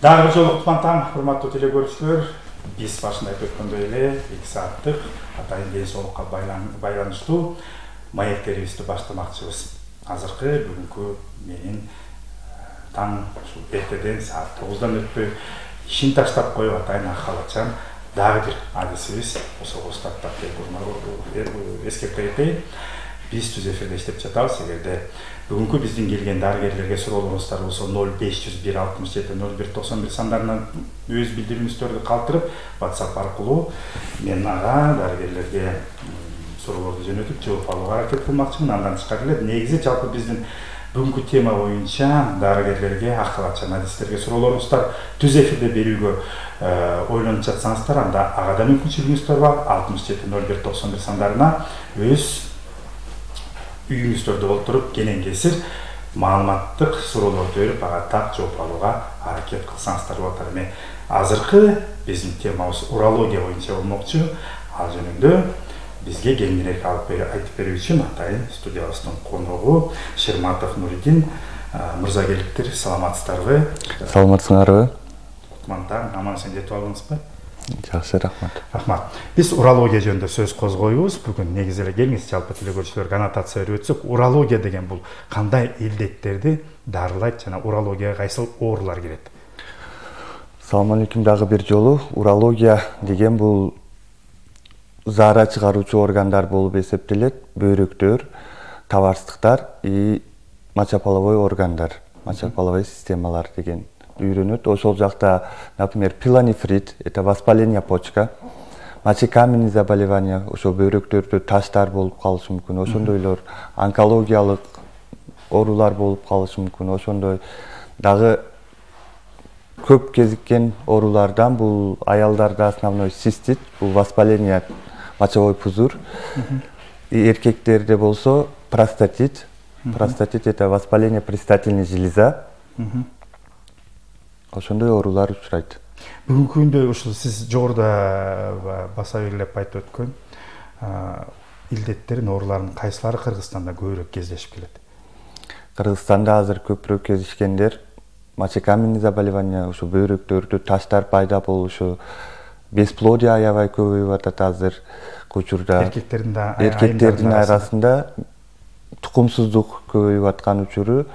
Дагы бир жолу кутман таң, урматтуу теле көрүүчүлөр. Биз башында айтып өткөндөй эле 2 сааттык атайын ден соолукка байланыштуу маектерибизди баштамакчыбыз. Азыркы бүгүнкү менин таң ушул эртеден саат 9-дан өтпөй ишин таштап коюп атайын акалачан дагы бир адисибиз ошого устаттап келип эскерте кетейин. Биз түз эфирде иштеп жатабыз. Эгерде бүгүнкү биздин келген дарыгерлерге суроолоруңуздар болсо 0501 67 0191 сандарына өз билдирүүңүздөрдү калтырып WhatsApp аркылуу мен ага дарыгерлерге суроолорду жөнөтүп жооп алууга аракет кылмакчымын. Андан тышкары эле негизи жалпы биздин бүгүнкү тема боюнча дарыгерлерге, акалачан адистерге суроолоруңуздар түз эфирде берүүгө ойлонуп жатсаңыздар, анда ага да мүмкүнчүлүгүңүз бар. 67 0191 сандарына өз үйүңүздөрдө олтуруп кенен кесир маалыматтык суроолорду берип ага так жооп алууга аракет кылсаңыздар болот. Эми азыркы биздин темабыз урология боюнча болмокчу. Ал жөнүндө бизге кеңирээк айтып берүү үчүн атайын студиябыздын коногу Шерматов Нуридин мырза келиптир. Саламатсыздарбы? Саламатсыңарбы? Кутман, аман эсен жетип алдыңызбы? Жакшы, рахмат. Рахмат. Биз урология жөнүндө сөз козгойбуз. Бүгүн негизи эле келиңиз жалпы теле көрүүчүлөргө аннотация берип өтсөк, урология деген бул кандай илдеттерди дарылайт жана урологияга кайсыл оорулар кирет? Салам алейкум дагы бир жолу. Урология деген бул заара чыгаруучу органдар болуп эсептелет. Бөйрөктөр, табарсыздыктар и мочеполовой органдар, мочеполовой системалар деген үйрөнөт. Ошол жакта, например, пилонефрит, это воспаление почка, мочекаменный заболевания, ошо бөйрөктөрдө таштар болуп калышы мүмкүн. Ошондойлор онкологиялык оорулар болуп калышы мүмкүн. Ошондой дагы көп кезиккен оорулардан бул аялдарда основной цистит, бул воспаление мочевой пузырь. И эркектерде болсо простатит. Простатит это воспаление предстательной железы. Ошондой оорулар учурайт. Бүгүнкү күндө ушул сиз жогоруда баса белгилеп айтып өткөн илдеттердин, оорулардын кайсылары Кыргызстанда көбүрөөк кездешип келет? Кыргызстанда азыр көбүрөөк кездешкендер мочекаменный заболевание, ушу бөйрөктөрдө таштар пайда болушу, бесплодие аябай көбөйүп атат азыр учурда. Эркектердин арасында тукумсуздук көбөйүп аткан учуру,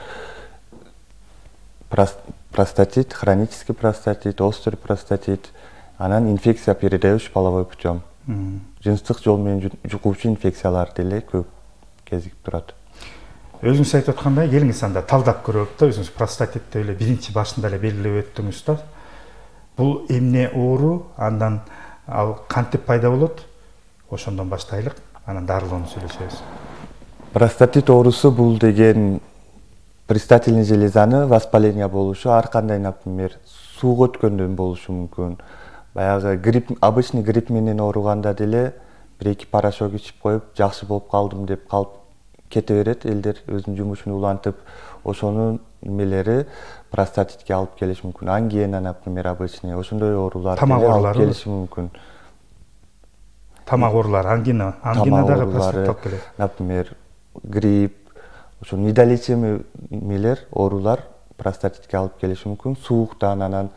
простатит, хронический простатит, острый простатит, анан инфекция передаюсь половой путем. Жыныстык жол менен жугуучу инфекциялар деле көп кезигип турат. Өзүңүз айтып аткандай, келиңиз анда талдап көрөлүк да, өзүңүз простатитти эле биринчи башында эле белгилеп өттүңүз да. Бул эмне оору, андан ал кантип пайда болот? Ошондон баштайлык, анан дарылоону сүйлөшөбүз. Простатит оорусу бул деген предстательный железаны воспаление болушу, ар кандай, например, сууга өткөндөн болушу мүмкүн. Баягы грипп, обычный грипп менен ооруганда деле 1-2 порошок ичип коюп, жакшы болуп калдым деп калып кете берет элдер, өзүнүн жумушун улантып, ошонун немелери простатитке алып келиши мүмкүн. Ангина, например, обычный, ошондой оорулар алып келиши мүмкүн. Тамак оорулары, ангина дагы простатитке алып келет. Например, грипп, ошо недолечимый мелер, оорулар простатитке алып келиши мүмкүн. Сууктан, анан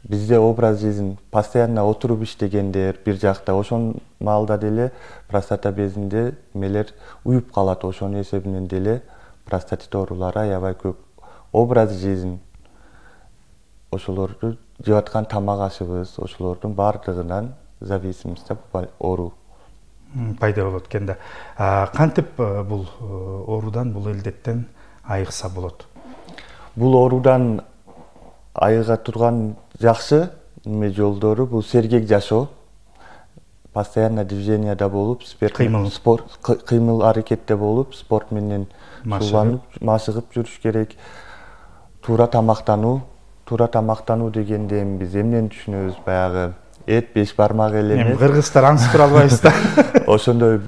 бизде образ жизнь постоянно отуруп иштегендер, бир жакта ошон маалда деле простата безинде мелер уюп калат. Ошонун эсебинен деле простатит оорулары аябай көп. Образ жизнь, ошолорду жеп аткан тамак ашыбыз, ошолордун бардыгынан зависимость оору пайда болот экен да. Кантип бул оорудан, бул илдеттен айыкса болот? Бул оорудан айыга турган жакшы жолдору бул сергек жашоо, постоянно движенияда болуп, кыймыл аракетте болуп, спорт менен шууланып, машыгып жүрүш керек. Туура тамактануу дегенде биз эмнени түшүнөбүз? Баягы эт 5 бармак эле эмес. Кыргыздар аңсыз тура албайбыз да. Ошондой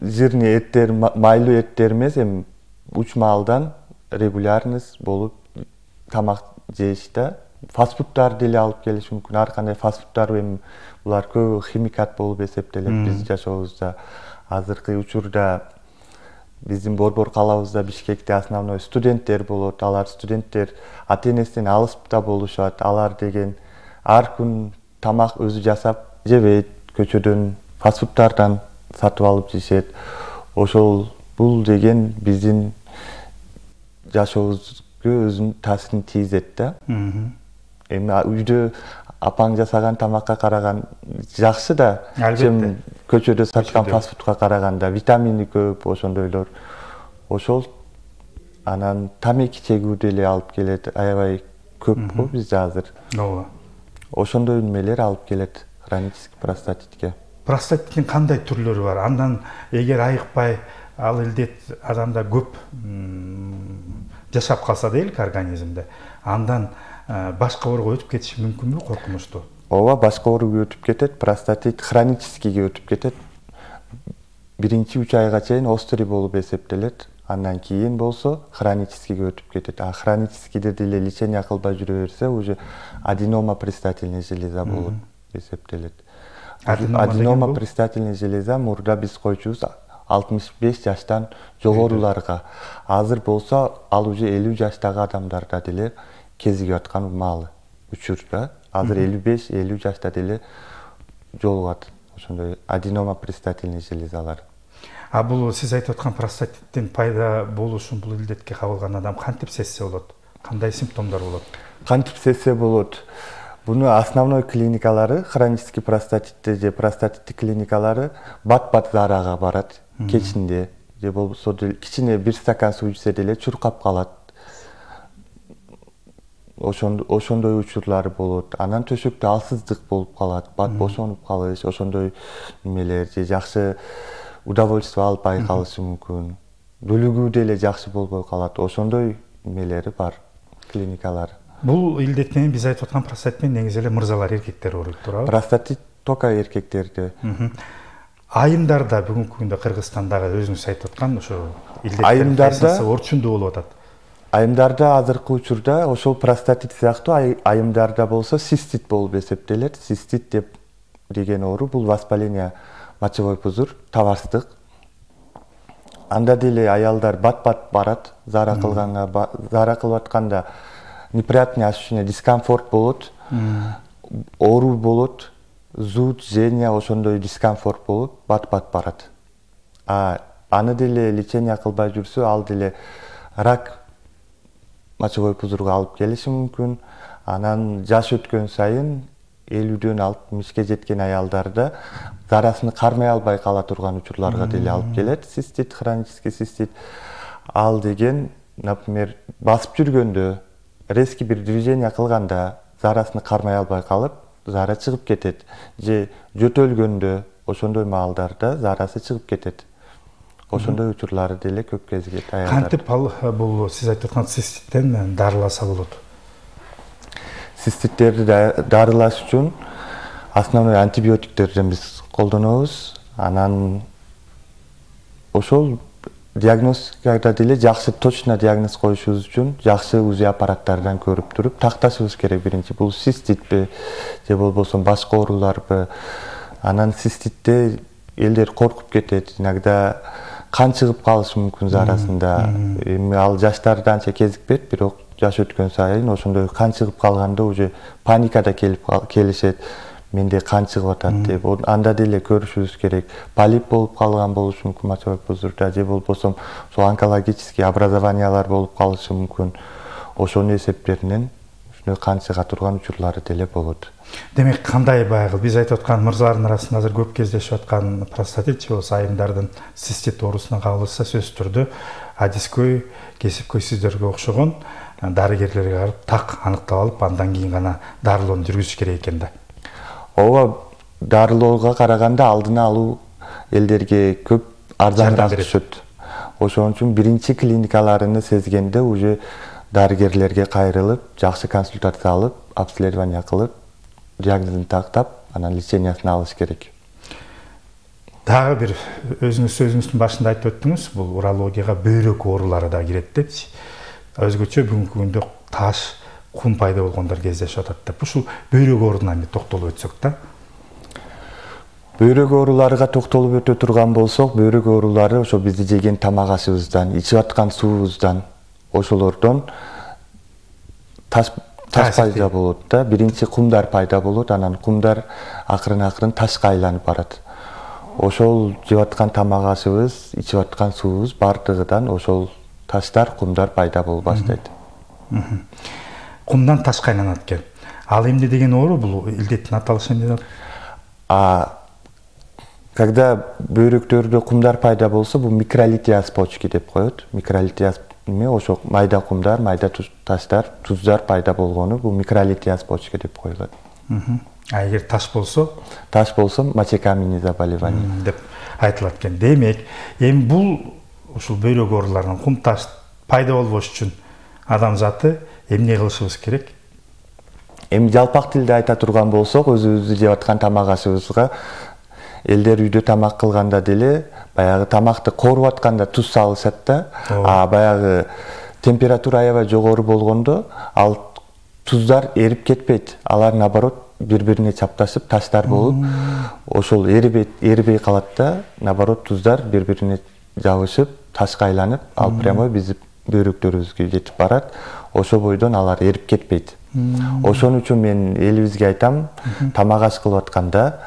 жирный эттер, майлуу эттер эмес, уч маалдан регулярность болуп тамак жейиш да. Фастфудтар деле алып келиш мүмкүн. Ар кандай фастфудтар булар көбү химикат болуп эсептелет биз жашообузда. Азыркы учурда биздин борбор калабызда Бишкекте основной студенттер болот. Алар студенттер ата-энесинен алыс да болушат. Алар деген ар күн тамак өзү жасап жебейт, көчөдөн фастфудтардан сатып алып жешет. Ошол бул деген биздин жашообузга өзүнүн таасирин тийгизет да. Эми үйдө апаң жасаган тамакка караган жакшы да, чем көчөдө саткан фастфудка караганда витамини көп, ошондойлор. Ошол анан тамеки чегүү деле алып келет, аябай көп го бизде азыр. Ооба. Ошондой немелер алып келет хронический простатитке. Простатиттин кандай түрлөрү бар? Андан эгер айыкпай ал илдет адамда көп жашап калса дейли организмде, андан башка оорууга өтүп кетиши мүмкүнбү, коркунучтуу? Ооба, башка оорууга өтүп кетет. Простатит хроническийге өтүп кетет. Биринчи 3 айга чейин остри болуп эсептелет. Андан кийин болсо хроническийге өтүп кетет. А хроническийде деле лечение кылбай жүрө берсе, уже аденома предстательная железа болуп эсептелет. Аденома предстательная железа мурда биз койчубуз 65 жаштан жогоруларга. Азыр болсо ал уже 50 жаштагы адамдарда деле кезиге аткан маалы учурда. Азыр 55-50 жашта деле жолугат ошондой аденома предстательная железалар. А бул сиз айтып аткан простатиттин пайда болушун бул илдетке кабылган адам кантип сезсе болот? Кандай симптомдор болот? Кантип сезсе болот? Буну основной клиникалары, хронический простатитте же простатиттик клиникалары бат-бат зарага барат кечинде, же болбосо кичине 1 стакан суу ичсе деле чуркап калат. Ошондой учурлары болот. Анан төшөктө алсыздык болуп калат, бат бошонуп калыш, ошондой немелер, же жакшы удовольствие албай калышы мүмкүн. Бөлүгүү деле жакшы болбой калат. Ошондой немелери бар, клиникалар. Бул илдет менен биз айтып аткан простатит менен негизи эле мырзалар, эркектер ооруйт, туурабы? Простатит только эркектерде. Айымдарда бүгүнкү күндө Кыргызстандагы өзүңүз айтып аткан ошо айымдарда орчундуу болуп атат. Айымдарда азыркы учурда ошол простатит сыяктуу айымдарда болсо цистит болуп эсептелет. Цистит деген оору бул воспаление мочевой пузырь, табарстык. Анда деле аялдар бат-бат барат, зара кылганга, зара кылып атканда неприятный ощущение, дискомфорт болот, оору болот, зуд, жжение, ошондой дискомфорт болуп, бат-бат барат. Аны деле лечение кылбай жүрсө, ал деле рак мочевой пузырьга алып келиши мүмкүн. Анан жаш өткөн сайын 50дөн 60ке жеткен аялдарда зарасын кармай албай кала турган учурларга деле алып келет. Цистит, хронический цистит. Ал деген, например, басып жүргөндө, резкий бир движение кылганда зарасын кармай албай калып, зара чыгып кетет. Же жөтөлгөндө, ошондой маалдарда зарасы чыгып кетет. Ошондой учурлары деле көп кезигет аялдар. Кантип бул сиз айтып аткан цисттен дарыласа болот? Циститтерди дарылаш үчүн основной антибиотиктерден биз колдонобуз. Анан ошол диагностикада деле жакшы точно диагноз коюшубуз үчүн жакшы УЗИ аппараттардан көрүп туруп такташыбыз керек. Биринчи бул циститпи же болбосо башка ооруларбы. Анан циститте элдер коркуп кетет. Иногда кан чыгып калышы мүмкүн зарасында. Эми ал жаштарда анча кезикпейт, бирок жаш өткөн сайын ошондой кан чыгып калганда уже паникада келишет. Менде кан чыгып атат деп. Анда деле көрүшүбүз керек. Полип болуп калган болушу мүмкүн мочевой пузырьда, же болбосо ошол онкологический образованиялар болуп калышы мүмкүн. Ошонун эсептеринен ушуну кан чыга турган учурлары деле болот. Демек, кандай байгыл? Биз айтып аткан мырзалардын арасында азыр көп кездешип аткан простатит же болбосо айымдардын цистит оорусуна кабылса сөзсүз түрдө адискөй, кесипкөй сиздерге окшогон дарыгерлерге барып так аныктап алып, андан кийин гана дарылоону жүргүзүш керек экен да. Ооба, дарылоого караганда алдын алуу элдерге көп арзаныраак түшөт. Ошон үчүн биринчи клиникаларыны сезгенде уже дарыгерлерге кайрылып, жакшы консультация алып, обследование кылып, диагнозун тактап, анан лечениясын алыш керек. Дагы бир өзүңүз сөзүңүздүн башында айтып өттүңүз, бул урологияга бөйрөк оорулары да кирет депчи. Өзгөчө бүгүнкү күндө таш, кум пайда болгондор кездешип атат деп. Ушул бөйрөк ооруна эми токтолуп өтсөк да. Бөйрөк ооруларга токтолуп өтө турган болсок, бөйрөк оорулары ошо бизди жеген тамак ашыбыздан, ичип аткан суубуздан, ошолордон таш пайда болот да. Биринчи кумдар пайда болот, анан кумдар акырын ташка айланып барат. Ошол жеп аткан тамак ашыбыз, ичип аткан суубуз бардыгыдан ошол таштар, кумдар пайда боло баштайт. Кумдан ташка айланат экен. Ал эмне деген оору, бул илдеттин аталышы эмне деп? Когда бөйрөктөрдө кумдар пайда болсо, бул микролитиаз почки деп коет. Микролитиаз эме ошо майда кумдар, майда таштар, туздар пайда болгону бул микролитиаз почки деп коюлат. Эгер таш болсо, мочекаменный заболевание деп айтылат экен. Демек, эми бул ушул бөйрөк ооруларынан кум таш пайда болбош үчүн адамзаты эмне кылышыбыз керек? Эми жалпак тилде айта турган болсок, өзүбүздү жеп аткан тамак ашыбызга элдер үйдө тамак кылганда деле баягы тамакты кооруп атканда туз салышат да. Баягы температура аябай жогору болгондо ал туздар эрип кетпейт. Алар наоборот бири-бирине чапташып таштар болуп, ошол эрибей калат да. Наоборот туздар бири-бирине жабышып, ташка айланып, ал прямой биздин бөйрөктөрүбүзгө жетип барат. Ошол бойдон алар эрип кетпейт. Ошон үчүн мен элибизге айтам, тамак аш кылып атканда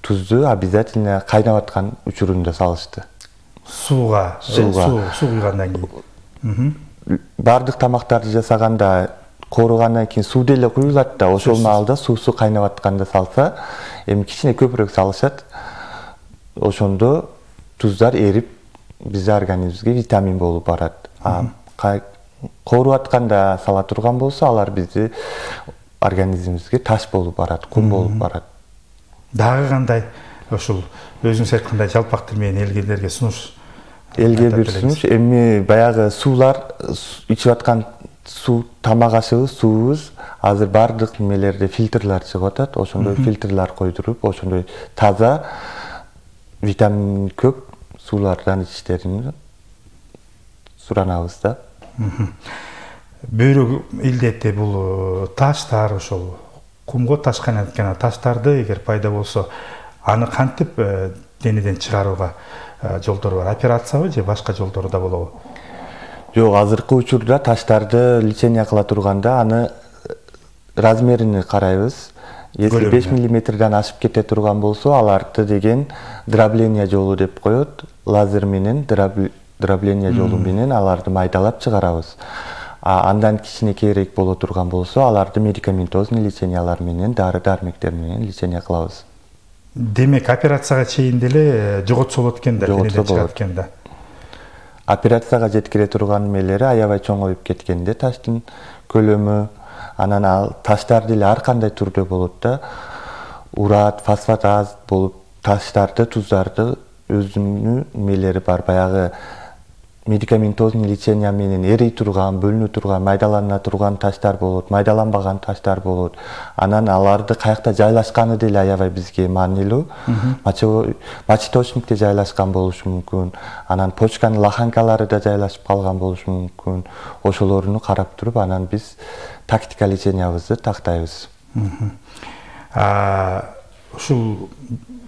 тузду обязательно кайнап аткан учурунда салышты. Сууга, суу куйгандан кийин. Бардык тамактарды жасаганда кооругандан кийин суу деле куюлат да, ошол маалда суусу кайнап атканда салса, эми кичине көбүрөөк салышат. Ошондо туздар эрип биздин организмибизге витамин болуп барат. Кооруп атканда сала турган болсо, алар биздин организмибизге таш болуп барат, кум болуп барат. Дагы кандай ошол өзүңүз айткандай жалпак тил менен элгелерге сунуш? Элге бир сунуш, эми баягы суулар, ичип аткан суу, тамак ашыбыз, суубуз азыр бардык немелерде фильтрлер чыгып атат. Ошондой фильтрлер койдуруп, ошондой таза, витамин көп суулардан ичиштерин суранабыз да. Бөйрөк илдети бул таштар, ошол кумго таш кайнатып аткан таштарды эгер пайда болсо, аны кантип денеден чыгарууга жолдору бар? Операциябы же башка жолдору да болобу? Жок, азыркы учурда таштарды лечение кыла турганда аны размерин карайбыз. Если 5 мм ашып кете турган болсо, аларды деген дробление жолу деп коет. Лазер менен дробление жолу менен аларды майдалап чыгарабыз. Андан кичинекейирээк боло турган болсо, аларды медикаментозный лечениялар менен, дары-дармектер менен лечение кылабыз. Демек, операцияга чейин деле жоготсо болот экен да, денеден чыгат экен да. Операцияга жеткире турган эмелери аябай чоңоюп кеткенде таштын көлөмү, анан ал таштар деле ар кандай түрдө болот да. Урат, фосфатаз болуп, таштарды, туздарды өзүнүн эмелери бар. Баягы медикаментозный лечение менен эрий турган, бөлүнө турган, майдалана турган таштар болот, майдаланбаган таштар болот. Анан аларды каякта жайлашканы деле аябай бизге маанилүү. Мочеточникте жайлашкан болушу мүмкүн. Анан почканын лоханкалары да жайлашып калган болушу мүмкүн. Ошолорду карап туруп, анан биз тактика лечениябызды тактайбыз. Ушул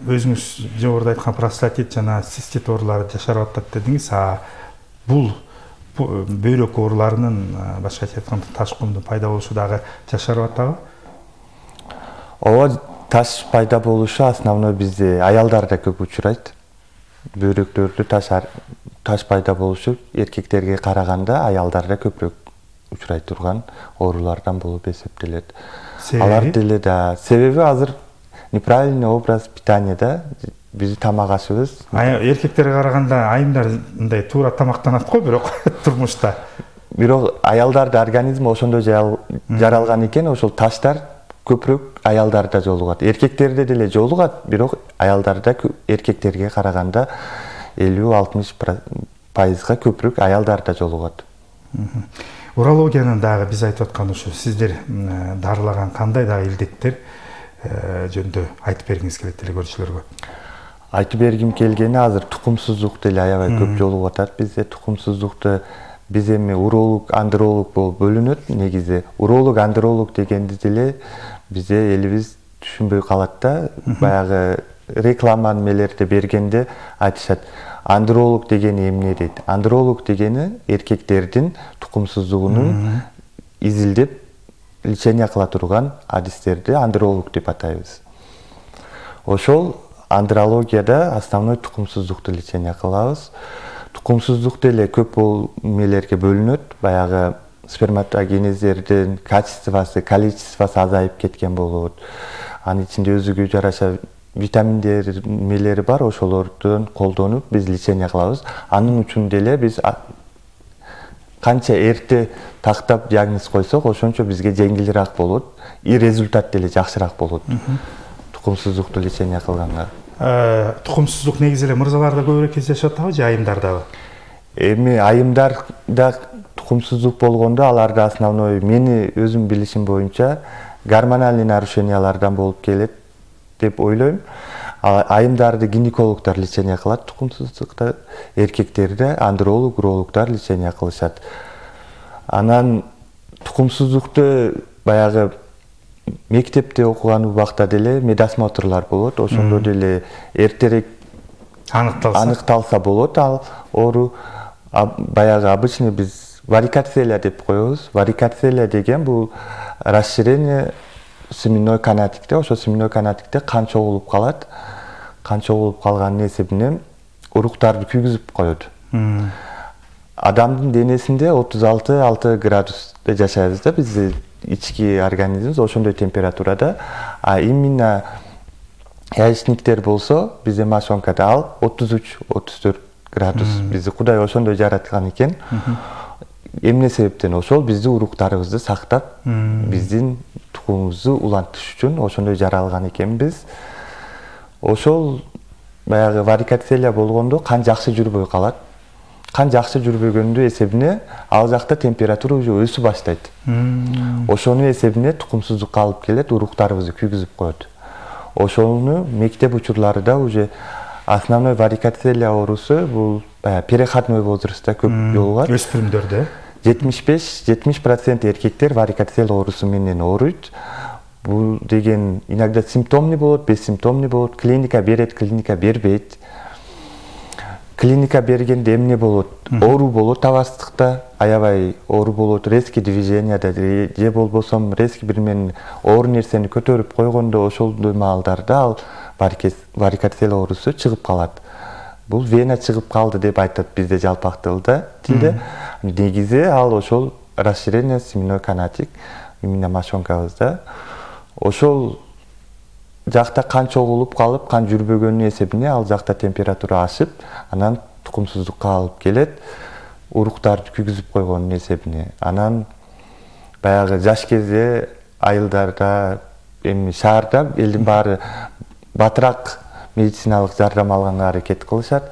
өзүңүз жогоруда айткан простатит жана цистит оорулары жашарып атат дедиңиз. Бул бөйрөк ооруларынын, башкача айтканда, таш кумдун пайда болушу дагы жашарып атабы? Ооба, таш пайда болушу основной бизде аялдарда көп учурайт. Бөйрөктөрдө таш пайда болушу эркектерге караганда аялдарда көбүрөөк учурай турган оорулардан болуп эсептелет. Алар деле да себеби азыр неправильный образ питания да. Биздин тамак ашыбыз. Эркектерге караганда айымдар мындай туура тамактанат го, бирок турмушта. Бирок аялдардын организми ошондой жаралган экен, ошол таштар көбүрөөк аялдарда жолугат. Эркектерде деле жолугат, бирок аялдарда эркектерге караганда 50-60%га көбүрөөк аялдарда жолугат. Урологиянын дагы биз айтып аткан ушу сиздер дарылаган кандай дагы илдеттер жөнүндө айтып бергиңиз келет деле көрүүчүлөргө? Айтып бергим келгени, азыр тукумсуздук деле аябай көп жолугуп атат бизде. Тукумсуздукту биз эми уролог, андролог болуп бөлүнөт негизи. Уролог, андролог дегенди деле бизде элибиз түшүнбөй калат да. Баягы реклама немелерди бергенде айтышат, андролог дегени эмне дейт. Андролог дегени эркектердин тукумсуздугунун изилдеп лечение кыла турган адистерди андролог деп атайбыз. Ошол андрологияда основной тукумсуздукту лечение кылабыз. Тукумсуздук деле көп немелерге бөлүнөт. Баягы сперматогенездердин качествосы, количествосы азайып кеткен болот. Анын ичинде өзүгө жараша витаминдер немелери бар, ошолордун колдонуп биз лечение кылабыз. Анын үчүн деле биз канча эрте тактап диагноз койсок, ошончо бизге жеңилирээк болот, и результат деле жакшыраак болот. Тукумсуздукту лечение кылганга. Тукумсуздук негизи эле мырзаларда көбүрөөк кездешип атабы же айымдардабы? Эми айымдарда тукумсуздук болгондо аларда основной мени өзүм билишим боюнча гормональный нарушениялардан болуп келет деп ойлойм. Айымдарды гинекологдор лечение кылат тукумсуздукта, эркектерди андролог, урологдор лечение кылышат. Анан тукумсуздукту баягы мектепте окуган убакта деле медосмотрлар болот. Ошондо деле эртерээк аныкталса болот ал оору. Баягы обычный биз варикоцелия деп коебуз. Варикоцелия деген бул расширение семенной канатикте, ошо семенной канатикте кан чогулуп калат. Кан чогулуп калганын эсебинен уруктарды күйгүзүп коет. Адамдын денесинде 36 градусте жашайбыз да, биздин ички организмибиз ошондой температурада. А именно яичниктер болсо, биздин мошонкада ал 33-34 градус. Бизди Кудай ошондой жараткан экен. Эмне себептен ошол бизди уруктарыбызды сактап, биздин тукумубузду улантыш үчүн ошондой жаралган экенбиз. Ошол баягы варикоцелия болгондо кан жакшы жүрбөй калат. Кан жакшы жүрбөгөндү эсебине ал жакта температура уже өсүп баштайт. Ошонун эсебине тукумсуздукка алып келет, уруктарыбызды күйгүзүп коет. Ошону мектеп учурларында уже основной варикоцелия оорусу бул переходной возрастта көп жолугат. Өспүрүмдөрдө 70% эркектер варикоцелия оорусу менен ооруйт. Бул деген иногда симптомный болот, бессимптомный болот. Клиника берет, клиника бербейт. Клиника бергенде эмне болот? Оору болот табастыкта, аябай оору болот, резкий движенияда же болбосо резкий бир менен оор нерсени көтөрүп койгондо ошолдой маалдарда ал варикоцелия оорусу чыгып калат. Бул вена чыгып калды деп айтат бизде жалпак тилде. Негизи ал ошол расширение семенной канатик именно мошонкабызда. Ошол жакта кан чогулуп калып, кан жүрбөгөнүн эсебине ал жакта температура ашып, анан тукумсуздукка алып келет, уруктарды күйгүзүп койгонун эсебине. Анан баягы жаш кезде айылдарда, эми шаарда элдин баары батыраак медициналык жардам алганга аракет кылышат.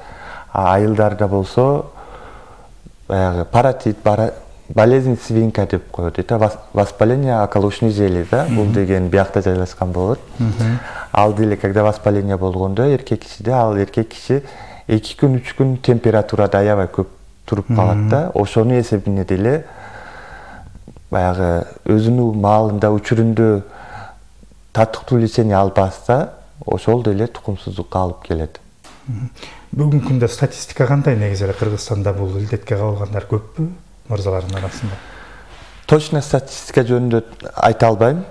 Айылдарда болсо баягы паротит, болезнь свинка деп коет. Это воспаление околочной железы, бул деген биякта жайлашкан болот. Ал деле когда воспаление болгондо эркек кишиде, ал эркек киши 2 күн 3 күн температурада аябай көп туруп калат да. Ошонун эсебине деле баягы өзүнүн маалында учурунда таттыктуу лечение албаса, ошол деле тукумсуздукка алып келет. Бүгүнкү күндө статистика кандай? Негизи эле Кыргызстанда бул илдетке кабылгандар көппү мырзалардын арасында? Точно статистика жөнүндө айта албайм.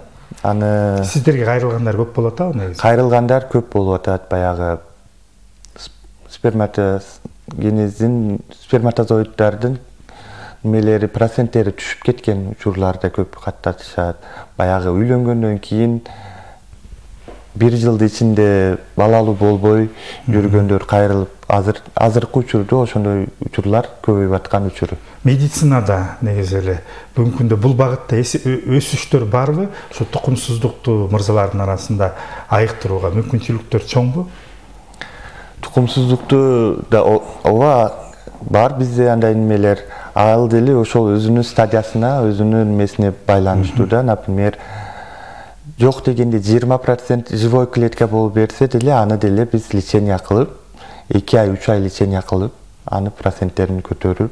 Аны сиздерге кайрылгандар көп болот атабы негизи? Кайрылгандар көп болуп атат. Баягы сперматозоиддардын немелери проценттери түшүп кеткен учурларда көп катташат. Баягы үйлөнгөндөн кийин 1 жылдын ичинде балалуу болбой жүргөндөр кайрылып, азыркы учурда ошондой учурлар көбөйүп аткан учуру. Медицинада негизи эле бүгүнкү күндө бул багытта өсүштөр барбы? Ошо тукумсуздукту мырзалардын арасында айыктырууга мүмкүнчүлүктөр чоңбу? Тукумсуздукту да ооба бар бизде андай немелер. Ал деле ошол өзүнүн стадиясына, өзүнүн немесине байланыштуу да. Например, жок дегенде 20% живой клетка болуп берсе деле, аны деле биз лечение кылып, 2 ай, 3 ай лечение кылып, аны проценттерин көтөрүп,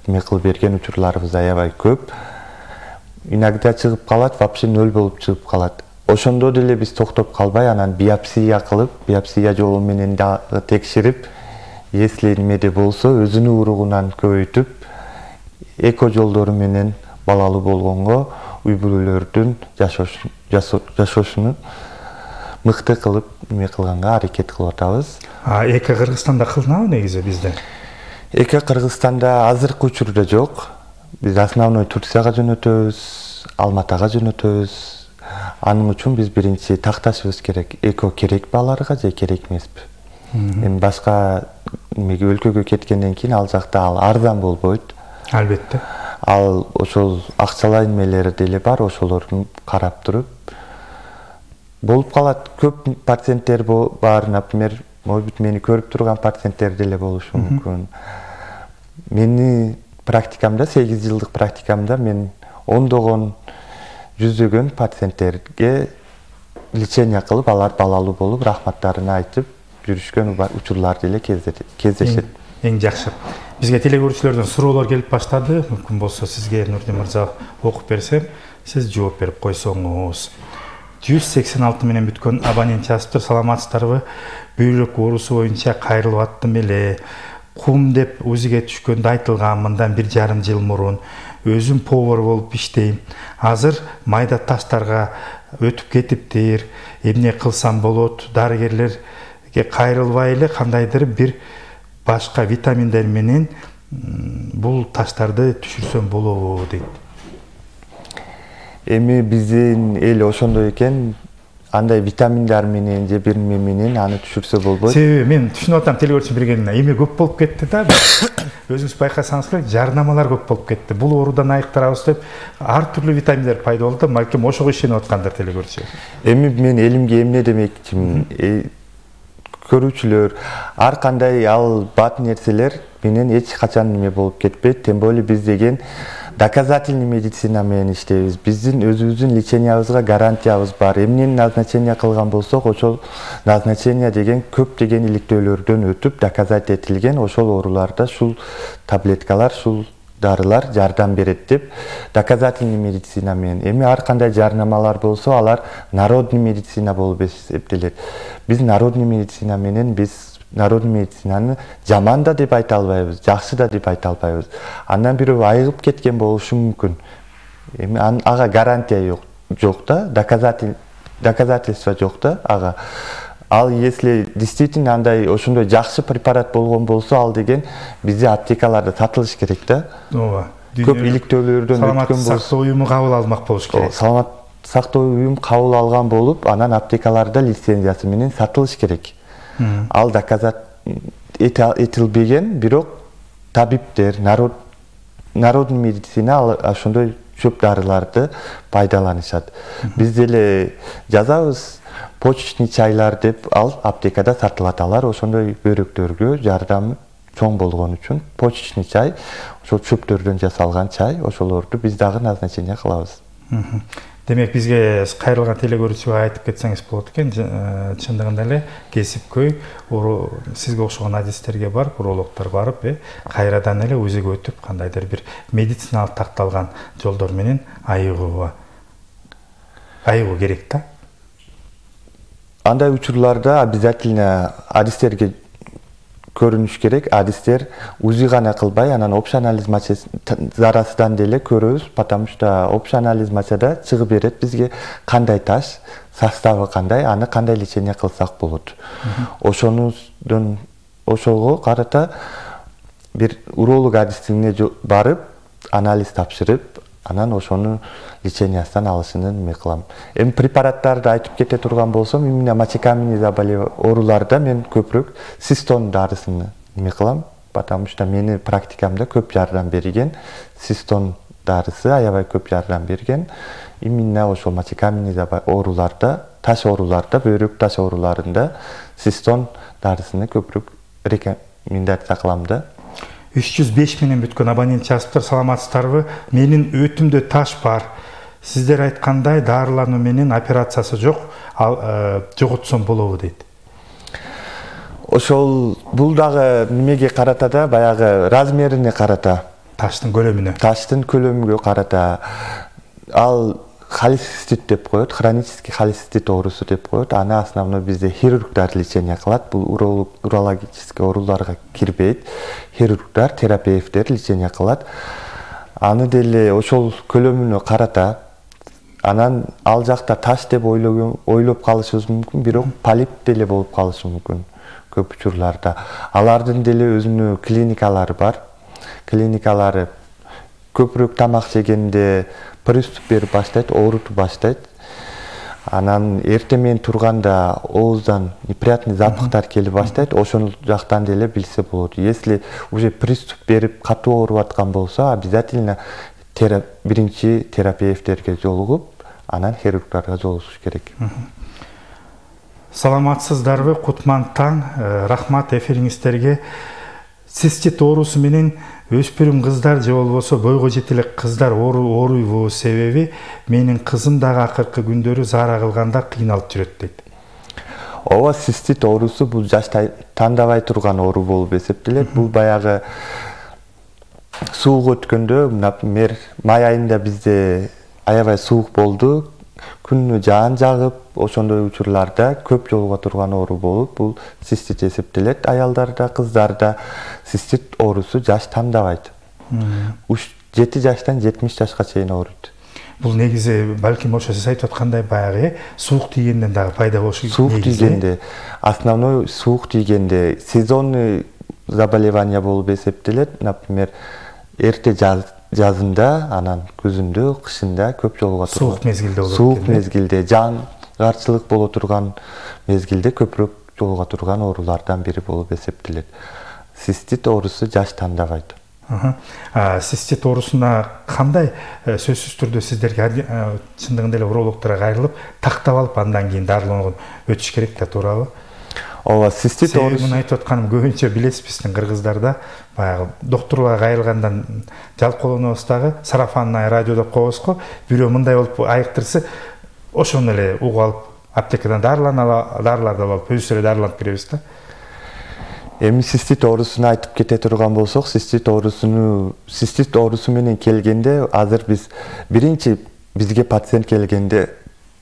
эме кылып берген учурларыбыз аябай көп. Иногда чыгып калат, вообще 0 болуп чыгып калат. ошондо деле биз токтоп калбай анан биопсия кылып, биопсия жолу менен дагы текшерип, если немеде болсо өзүнүн уругунан көбөйтүп, эко жолдору менен балалуу болгонго үй бүлөлөрдүн жашоосун мыкты кылып неме кылганга аракет кылып атабыз. Эко Кыргызстанда кылынабы негизи бизде? Эко Кыргызстанда азыркы учурда жок. Биз основной Турцияга жөнөтөбүз, Алматага жөнөтөбүз. Анын үчүн биз биринчи такташыбыз керек. Эко керек баларга же керек эмеспи? Эми башка немеге өлкөгө кеткенден кийин ал жакта ал арзан болбойт. Албетте. Ал ошол акчалай немелери деле бар, ошолорду карап туруп болуп калат. Көп пациенттер бар, например, может мени көрүп турган пациенттер деле болушу мүмкүн. Мени практикамда, 8 жылдык практикамда мен ондогон, жүздөгөн пациенттерге лечение кылып, алар балалуу болуп, рахматтарын айтып жүрүшкөн учурлар деле кездешет. Эң жакшы. Бизге телекөрүүчүлөрдөн суроолор келип баштады. Мүмкүн болсо сизге Нурдин мырза окуп берсем, сиз жооп берип койсоңуз. 186 менен бүткөн абонент жазыптыр. Саламатсыздарбы? Бөйрөк оорусу боюнча кайрылып аттым эле. Кум деп УЗИге түшкөндө айтылган мындан 1,5 жыл мурун. Өзүм повар болуп иштейм. Азыр майда таштарга өтүп кетиптир. Эмне кылсам болот? Дарыгерлерге кайрылбай эле кандайдыр бир башка витаминдер менен бул таштарды түшүрсөм болобу дейт. Эми биздин эл ошондой экен, андай витаминдер менен же бир неме менен аны түшүрсө болбойт. Себеби мен түшүнүп атам телекөрүүчү бергенине. Эми көп болуп кетти да. Өзүңүз байкасаңыз керек, жарнамалар көп болуп кетти. Бул оорудан айыктырабыз деп ар түрлүү витаминдер пайда болду. Балким ошого ишенип аткандар телекөрүүчү. Эми мен элимге эмне демекчимин? Көрүүчүлөр, ар кандай ал бат нерселер менен эч качан неме болуп кетпейт. Тем более биз деген доказательный медицина менен иштейбиз. Биздин өзүбүздүн лечениябызга гарантиябыз бар. Эмнени назначение кылган болсок, ошол назначение деген көптөгөн иликтөөлөрдөн өтүп, доказать этилген ошол ооруларда ушул таблеткалар, ушул дарылар жардам берет деп доказательный медицина менен. Эми ар кандай жарнамалар болсо, алар народный медицина болуп эсептелет. Биз народный медицина менен народный медицинаны жаман да деп айта албайбыз, жакшы да деп айта албайбыз. Андан бирөө айыгып кеткен болушу мүмкүн. Эми ага гарантия жок да, доказательство жок да ага. Ал если действительно андай ошондой жакшы препарат болгон болсо, ал деген бизде аптекаларда сатылыш керек да. Ооба. Көп иликтөөлөрдөн өткөн болсо, Саламаттык сактоо уюму кабыл алмак болуш керек. Саламаттык сактоо уюму кабыл алган болуп, анан аптекаларда лицензиясы менен сатылыш керек. Ал доказать этилбеген, бирок табиптер, народный медицина ошондой чөп дарыларды пайдаланышат. Биз деле жазабыз почечный чайлар деп, ал аптекада сатылат. Алар ошондой бөйрөктөргө жардам чоң болгон үчүн почечный чай, ошол чөптөрдөн жасалган чай, ошолорду биз дагы назначение кылабыз. Демек бизге кайрылган телекөрүүчүгө айтып кетсеңиз болот экен. Чындыгында эле кесипкөй сизге окшогон адистерге барып, урологдор барып, кайрадан эле УЗИге өтүп, кандайдыр бир медициналык такталган жолдор менен айыгуу керек да. Андай учурларда обязательно адистерге көрүнүш керек. Адистер УЗИ гана кылбай, анан общий анализ зарасынан деле көрөбүз, потому что общий анализ мачада чыгып берет бизге кандай таш, составы кандай, аны кандай лечение кылсак болот. Ошого карата бир уролог адистине барып, анализ тапшырып, анан ошону лечениясынан алышынын эме кылам. Эми препараттарды айтып кете турган болсом, именно мочекаменный заболевание ооруларда мен көпүрөөк систон дарысын эме кылам, потому что мени практикамда көп жардам берген, систон дарысы аябай көп жардам берген. Именно ошол мочекаменный ооруларда, таш ооруларда, бөйрөк таш ооруларында систон дарысыны көпүрөөк рекомендация кылам да. 305 менен бүткөн абонент жазыптыр. Саламатсыздарбы? Менин өтүмдө таш бар. Сиздер айткандай дарылануу менен операциясы жок, жоготсом болобу дейт. Ошол бул дагы немеге карата да, баягы размерине карата. Таштын көлөмүнө. Таштын көлөмүгө карата. Ал холецистит деп коет, хронический холецистит оорусу деп коет. Аны основной бизде хирургдар лечение кылат. Бул урологический ооруларга кирбейт. Хирургдар, терапевттер лечение кылат. Аны деле ошол көлөмүнө карата, анан ал жакта таш деп ойлоп калышыбыз мүмкүн, бирок полип деле болуп калышы мүмкүн көп учурларда. Алардын деле өзүнүн клиникалары бар. Клиникалары көпүрөөк тамак жегенде приступ берип баштайт, оорутуп баштайт. Анан эртең турганда ооздан неприятный запахтар келип баштайт. Ошол жактан деле билсе болот. Если уже приступ берип катуу ооруп аткан болсо, обязательно биринчи терапевттерге жолугуп, анан хирургдарга жолугуш керек. Саламатсыздарбы, кутман таң. Рахмат эфириңиздерге. Цистит оорусу менен өспүрүм кыздар же болбосо бойго жете элек кыздар ооруйбу себеби менин кызым дагы акыркы күндөрү заара кылганда кыйналып жүрөт дейт. Ооба, цистит оорусу бул жашта тандабай турган оору болуп эсептелет. Бул баягы суук өткөндө, например, май айында бизде аябай суук болду, күнү жаан жагып, ошондой учурларда көп жолуга турган оору болуп, бул цистит эсептелет. Аялдарда, кыздарда цистит оорусу жаш тандабайт. 7 жаштан 70 жашка чейин ооруйт. Бул негизи балким ошо сиз айтып аткандай баягы суук тийгенден дагы пайда болушу керек. Суук тийгенде, основной суук тийгенде сезонный заболевание болуп эсептелет. Например, эрте жазында, анан күзүндө, кышында көп жолуга турган. Суук мезгилде болот. Суук мезгилде, жаангарчылык боло турган мезгилде көпүрөөк жолуга турган оорулардан бири болуп эсептелет. Цистит оорусу жаш тандабайт. Цистит оорусуна кандай сөзсүз түрдө сиздерге чындыгында эле урологторго кайрылып, тактап алып, андан кийин дарылоонго өтүш керек да, туурабы? Ооба, цистит оорусу. Мен айтып атканым көбүнчө билесиз, биздин кыргыздарда баягы доктурга кайрылгандан жалкоолонобуз дагы, сарафанный радио деп коебуз го. Бирөө мындай болуп айыктырса, ошону эле угуп алып, аптекадан дарыларды алып, өзүбүз эле дарыланып киребиз да. Эми цистит оорусуну айтып кете турган болсок, цистит оорусу менен келгенде, азыр биз биринчи бизге пациент келгенде,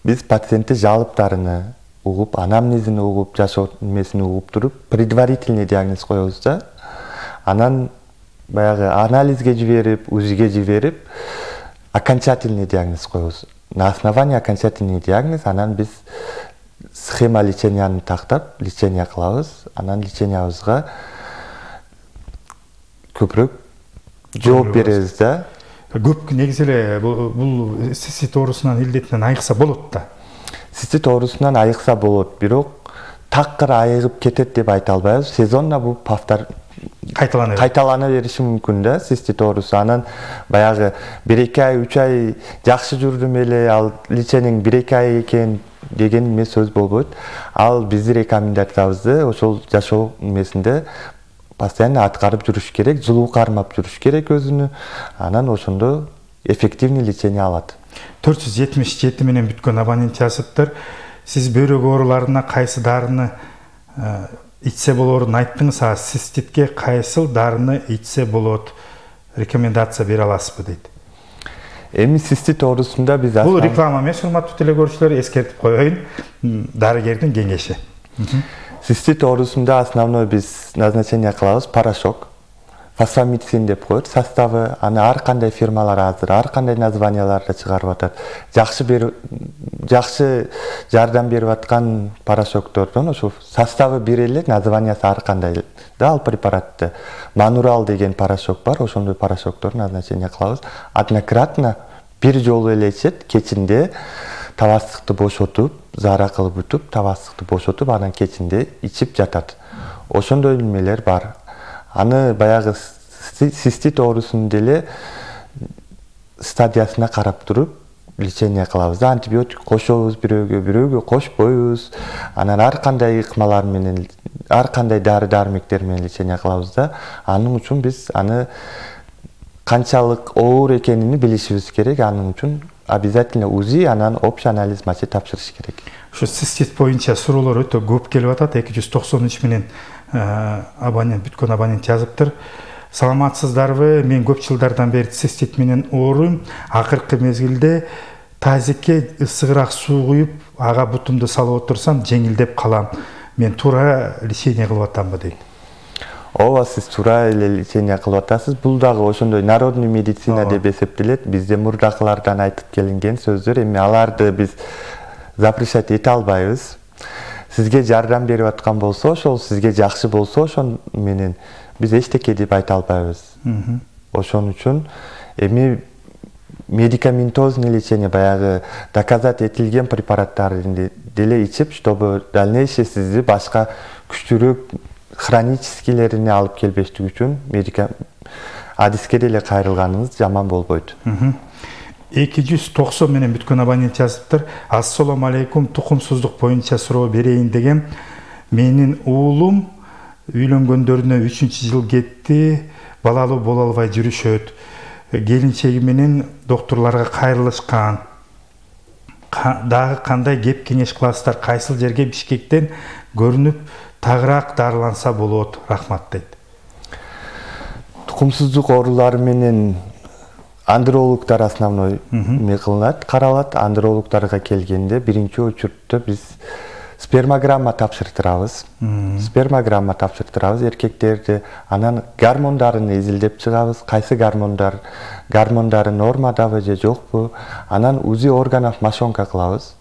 биз пациентти жалыптарыны угуп, анамнезин угуп, жашоо немесин угуп туруп, предварительный диагноз коебуз да. Анан баягы анализге жиберип, УЗИге жиберип, окончательный диагноз коебуз. На основании окончательный диагноз анан биз схема леченияны тактап, лечение кылабыз. Анан лечениябызга көпүрөөк жооп беребиз да. Көп негизи эле бул цистит оорусунан илдетинен айыкса болот да. Цистит оорусунан айыкса болот, бирок такыр айыгып кетет деп айта албайбыз. Сезонно бул кайталана бериши мүмкүн да, цистит оорусу. Анан баягы 1-2 ай, 3 ай жакшы жүрдүм эле, ал лечениең 1-2 ай экен деген эме сөз болбойт. Ал биздин рекомендациябызды ошол жашоо эмесинде постоянно аткарып жүрүш керек, жылуу кармап жүрүш керек өзүнү. Анан ошондо эффективный лечение алат. 477 менен бүткөн абонент жазыптыр. Сиз бөйрөк ооруларына кайсы дарыны ичсе болоорун айттыңыз, циститке кайсыл дарыны ичсе болот? Рекомендация бере аласызбы дейт. Эми цистит оорусунда биз бул реклама эмес, урматтуу телекөрүүчүлөр, эскертип коеюн. Дарыгердин кеңеши. Цистит оорусунда основной биз назначение кылабыз порошок. Фосфамицин деп коет. Составы аны ар кандай фирмалар азыр, ар кандай названияларда чыгарып атат. Жакшы жардам берип аткан порошоктордон ошо составы бир эле, названиясы ар кандай да ал препаратты. Манурал деген порошок бар, ошондой порошоктор назначение кылабыз. Однократно бир жолу эле ичет, кечинде табастыкты бошотуп, заара кылып өтүп, табастыкты бошотуп, анан кечинде ичип жатат. Ошондой немелер бар. Аны баягы цистит оорусунун деле стадиясына карап туруп лечение кылабыз. Антибиотик кошобуз бирөөгө кошпойбуз. Анан ар кандай ыкмалар менен, ар кандай дары-дармектер менен лечение кылабыз да. Анын үчүн биз аны канчалык оор экенин билишибиз керек. Анын үчүн обязательно УЗИ, анан общий анализ мачи тапшырыш керек. Ушу цистит боюнча суроолор өтө көп келип атат. 293 менен абонент, бүткөн абонент жазыптыр. Саламатсыздарбы? Мен көп жылдардан бери цистит менен ооруйм. Акыркы мезгилде тазекке ысыгыраак суу куюп, ага бутумду салып отурсам, жеңилдеп калам. Мен туура лечение кылып атамбы дейт. Ооба, сиз туура эле лечение кылып атасыз. Бул дагы ошондой народный медицина деп эсептелет. Бизде мурдакылардан айтып келинген сөздөр, эми аларды биз запрещать эте албайбыз. Сизге жардам берип аткан болсо, ошол сизге жакшы болсо, ошон менен биз эчтеке деп айта албайбыз. Ошон үчүн эми медикаментозный лечение, баягы доказать этилген препараттарды деле ичип, чтобы дальнейшее сизди башка күчтүүрөөк хроническийлерине алып келбештик үчүн адиске деле кайрылганыңыз жаман болбойт. 290 менен бүткөн абонент жазыптыр. Ассаламу алейкум, тукумсуздук боюнча суроо берейин дегем. Менин уулум үйлөнгөндөрүнө 3-жыл кетти, балалуу боло албай жүрүшөт. Келинчеги менен доктурларга кайрылышкан. Дагы кандай кеп кеңеш кыласыздар? Кайсыл жерге Бишкектен көрүнүп тагыраак дарыланса болот? Рахмат дейт. Тукумсуздук оорулары менен андрологдор основной кылынат, каралат. Андрологдорго келгенде биринчи очередте биз спермограмма тапшыртырабыз. Спермограмма тапшыртырабыз эркектерди. Анан гормондарын изилдеп чыгабыз. Кайсы гормондары нормадабы же жокпу? Анан УЗИ органов мошонка кылабыз.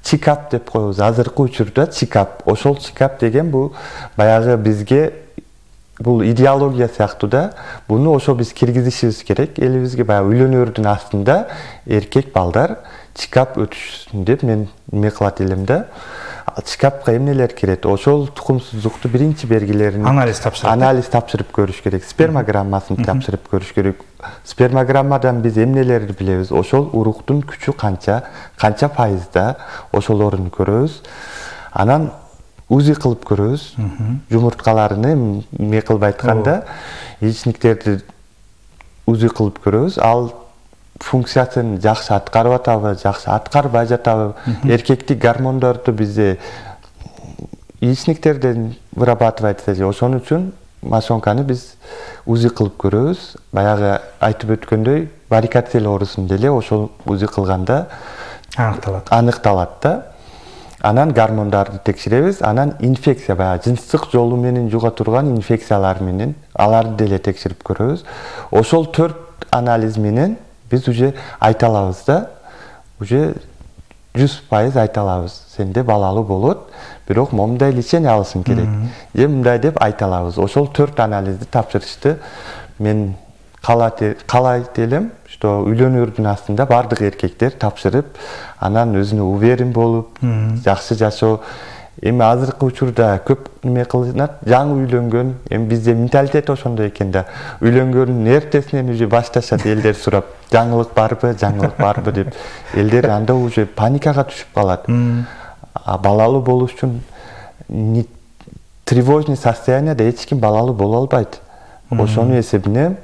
Чекап деп коебуз. Азыркы учурда чекап. Ошол чекап деген бул баягы бизге бул идеология сыяктуу да. Буну ошо биз киргизишибиз керек. Элибизге баягы үйлөнөрдүн астында эркек балдар чекап өтүшсүн деп мен эме кылат элем да. Чекапка эмнелер кирет? Ошол тукумсуздукту биринчи белгилерин анализ тапшырып көрүш керек. Спермограммасын тапшырып көрүш керек. Спермограммадан биз эмнелерди билебиз? Ошол уруктун күчү канча пайызда, ошолорун көрөбүз. Анан УЗИ кылып көрөбүз. Жумурткаларыны эме кылып айтканда, яичниктерди УЗИ кылып көрөбүз. Ал функциясын жакшы аткарып атабы, жакшы аткарбай жатабы? Эркектик гормондорду бизде яичниктерден вырабатывается же. Ошон үчүн мошонканы биз УЗИ кылып көрөбүз. Баягы айтып өткөндөй, варикоцель оорусун деле ошол УЗИ кылганда аныкталат да. Анан гормондарды текшеребиз. Анан инфекция, баягы жыныстык жолу менен жуга турган инфекциялар менен аларды деле текшерип көрөбүз. Ошол 4 анализ менен биз уже айта алабыз да, уже 100% айта алабыз. Сенде балалуу болот, бирок момундай лечение алышың керек. Же мындай деп айта алабыз. Ошол 4 анализди тапшырышты мен каалайт элем, что үйлөнөрдүн астында бардык эркектер тапшырып, анан өзүнө уверен болуп, жакшы жашоо. Эми азыркы учурда көп неме кылынат, жаңы үйлөнгөн, эми бизде менталитет ошондой экен да. Үйлөнгөндүн эртесинен уже башташат элдер сурап, жаңылык барбы деп. Элдер анда уже паникага түшүп калат. Балалуу болуш үчүн тревожный состоянияда эч ким балалуу боло албайт. Ошонун эсебине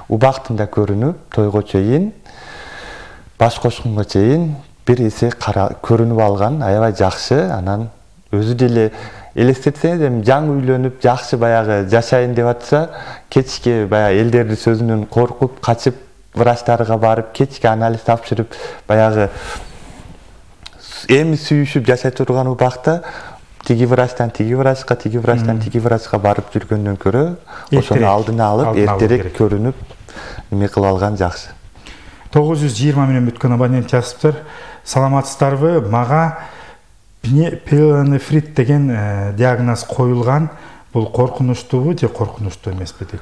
убактында көрүнүп, тойго чейин, баш кошкунга чейин бир эсе көрүнүп алган, аябай жакшы. Анан өзү деле элестетсеңиз, эми жаңы үйлөнүп, жакшы баягы жашайын деп атса, кечке баягы элдердин сөзүнөн коркуп, качып, врачтарга барып, кечке анализ тапшырып, баягы эми сүйүшүп жашай турган убакта тиги врачтан тиги врачка барып жүргөндөн көрө, ошону алдына алып, эртерээк көрүнүп, эме кылып алган жакшы. 920 менен бүткөн абонент жазыптыр. Саламатсыздарбы? Мага пилонефрит деген диагноз коюлган. Бул коркунучтуубу же коркунучтуу эмеспи дейт.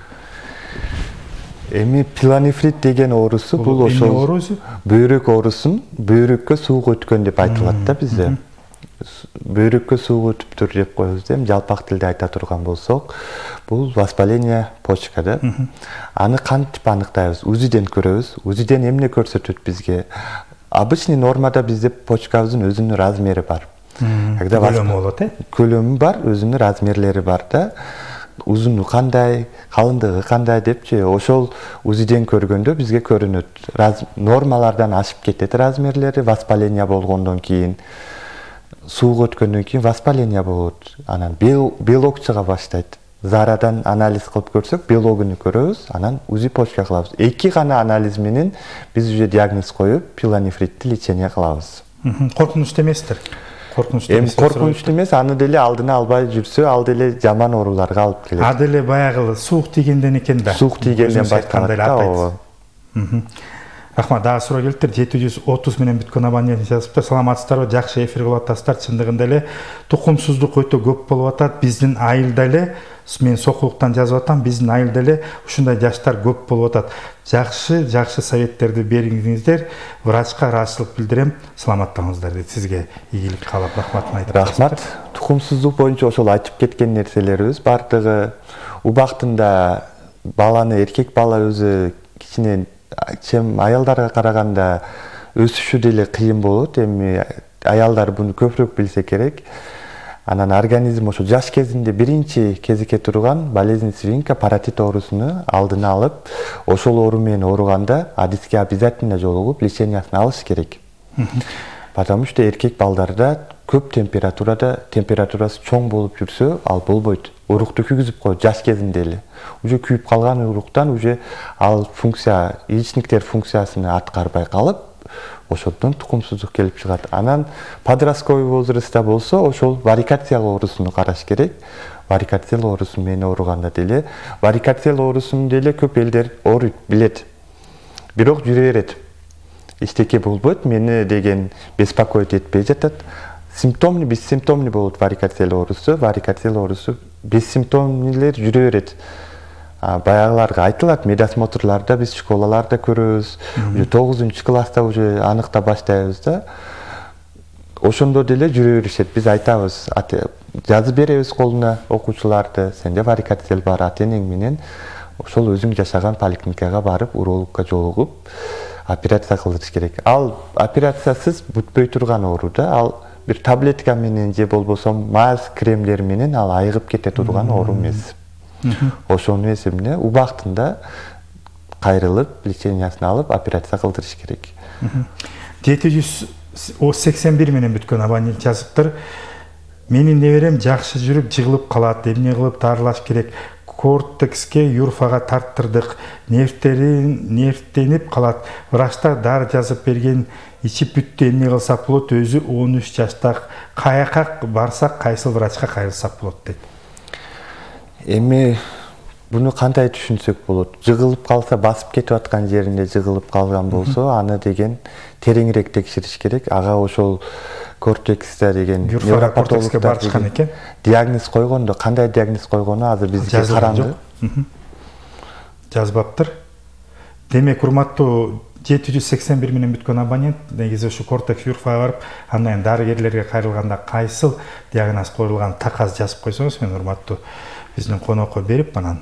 Эми пилонефрит деген оорусу бул ошол бөйрөк оорусун бөйрөккө суук өткөн деп айтылат да бизде. Бөйрөккө суук өтүптүр деп коебуз да, жалпак тилде айта турган болсок, бул воспаление почка да. Аны кантип аныктайбыз? УЗИден көрөбүз. УЗИден эмне көрсөтөт бизге? Обычный нормада бизде почкабыздын өзүнүн размери бар. Көлөмү болот, көлөмү бар, өзүнүн размерлери бар да. Узуну кандай, калындыгы кандай депчи, ошол УЗИден көргөндө бизге көрүнөт. Нормалардан ашып кетет размерлери, воспаление болгондон кийин, суук өткөндөн кийин воспаление болот. Анан белок чыга баштайт. Зарадан анализ кылып көрсөк, белогуну көрөбүз, анан УЗИ почка кылабыз. 2 гана анализ менен биз уже диагноз коюп, пилонефритти лечение кылабыз. Коркунучтуу эместир. Коркунучтуу эмес, аны деле алдына албай жүрсө, ал деле жаман ооруларга алып келет. А деле баягы суук тигенден экен да. Суук тигенден башталат да. Рахмат, дагы суроо келиптир. 730 менен бүткөн абонент жазыптыр. Саламатсыздарбы? Жакшы эфир кылып атасыздар. Чындыгында эле тукумсуздук өтө көп болуп атат. Биздин айылда эле, мен Сокулуктан жазып атам, биздин айылда эле ушундай жаштар көп болуп атат. Жакшы советтерди бериңиздер. Врачка ыраазычылык билдирем. Саламаттаңыздар дейт. Сизге ийгилик каалап рахматын айтып атасыздар. Рахмат. Тукумсуздук боюнча ошол айтып кеткен нерселерибиз бардыгы убактында баланы, эркек бала өзү кичине чем аялдарга караганда өсүшү деле кыйын болот. Эми аялдар буну көбүрөөк билсе керек. Анан организм ошо жаш кезинде биринчи кезекке турган болезнь свинка паротит оорусуну алдына алып, ошол оору менен ооруганда адиске обязательно жолугуп лечениясын алыш керек. Потому что эркек балдарда көп температурасы чоң болуп жүрсө, ал болбойт. Урукту күйгүзүп коет жаш кезинде эле. Уже күйүп калган уруктан уже ал функция, яичниктер функциясын аткарбай калып, ошондон тукумсуздук келип чыгат. Анан подростковый возрастта болсо, ошол варикациялык оорусуну караш керек. Варикациялык оорусу менен ооруганда деле, варикациялык оорусуну деле көп элдер ооруйт, билет. Бирок жүрө берет. Эчтеке болбойт, мени деген беспокоить этпей жатат. Симптомный, бессимптомный болот варикациялык оорусу. Варикациялык оорусу бессимптомныйлер жүрө берет. Баягыларга айтылат, медосмотрларда биз школаларда көрөбүз. Уже 9-класста уже аныкта баштайбыз да. Ошондо деле жүрө беришет. Биз айтабыз, жазып беребиз колуна окуучуларды, сенде варикациялык бар, ата-энең менен ошол өзүң жашаган поликлиникага барып, урологка жолугуп, операция кылдырыш керек. Ал операциясыз бүтпөй турган оору да, ал бир таблетка менен же болбосо мазь, кремдер менен ал айыгып кете турган оору эмес. Ошонун эсебине убактында кайрылып, лечениясын алып, операция кылдырыш керек. 781 менен бүткөн абонент жазыптыр. Менин неберем жакшы жүрүп, жыгылып калат. Эмне кылып дарылаш керек? Кортекске юрфага тарттырдык. Нервтенип калат. Врачтар дары жазып берген, ичип бүттү. Эмне кылсак болот? Өзү 13 жаштак. Каяка барсак, кайсыл врачка кайрылсак болот дейт. Эми буну кандай түшүнсөк болот? Жыгылып калса, басып кетип аткан жеринде жыгылып калган болсо, аны деген тереңирээк текшериш керек. Ага ошол кортексте деген невропатологтор барышкан экен. Диагноз койгондо, кандай диагноз койгону азыр бизге караңгы. Жазбаптыр. Демек, урматтуу 781 менен бүткөн абонент, негизи ушу кортекс юрфага барып, андан дарыгерлерге кайрылганда кайсыл диагноз коюлган таказ жазып койсоңуз, мен урматтуу биздин конокко берип, анан